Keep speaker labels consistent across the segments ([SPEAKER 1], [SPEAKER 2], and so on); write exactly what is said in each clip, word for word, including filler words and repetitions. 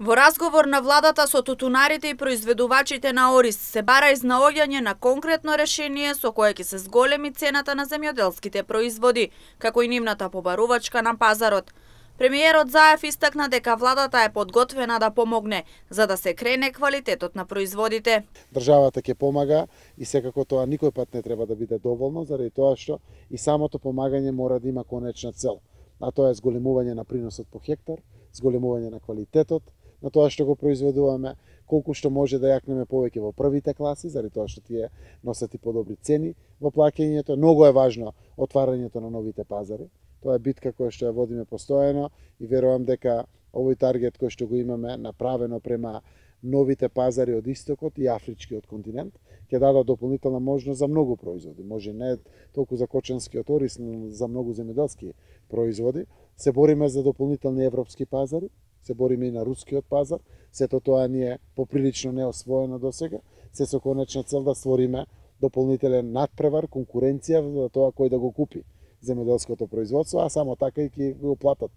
[SPEAKER 1] Во разговор на владата со тутунарите и произведувачите на ориз се бара изнаоѓање на конкретно решение со кое ќе се зголеми цената на земјоделските производи, како и нивната побарувачка на пазарот. Премиерот Заев истакна дека владата е подготвена да помогне за да се крене квалитетот на производите.
[SPEAKER 2] Државата ќе помага и секако тоа никој пат не треба да биде доволно, заради тоа што и самото помагање мора да има конечна цел, а тоа е зголемување на приносот по хектар, зголемување на квалитетот на тоа што го произведуваме, колку што може да јакнеме повеќе во првите класи, заради тоа што тие носат и подобри цени во плаќањето. Многу е важно отварањето на новите пазари. Тоа е битка која што ја водиме постојано и верувам дека овој таргет кој што го имаме направено према новите пазари од истокот и афричкиот континент ќе даде дополнителна можност за многу производи. Може не толку за кочанскиот ориз, но за многу земјоделски производи. Се бориме за дополнителни европски пазари, се бориме и на рускиот пазар. Сето тоа ни е поприлично неосвоено досега. Се со конечна цел да створиме дополнителен надпревар, конкуренција за тоа кој да го купи земјоделското производство, а само така и ќе го платат.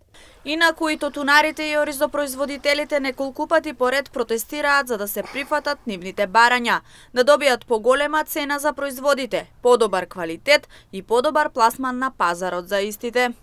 [SPEAKER 1] Инаку и тутунарите и оризопроизводителите неколку пати поред протестираат за да се прифатат нивните барања, да добијат поголема цена за производите, подобар квалитет и подобар пласман на пазарот за истите.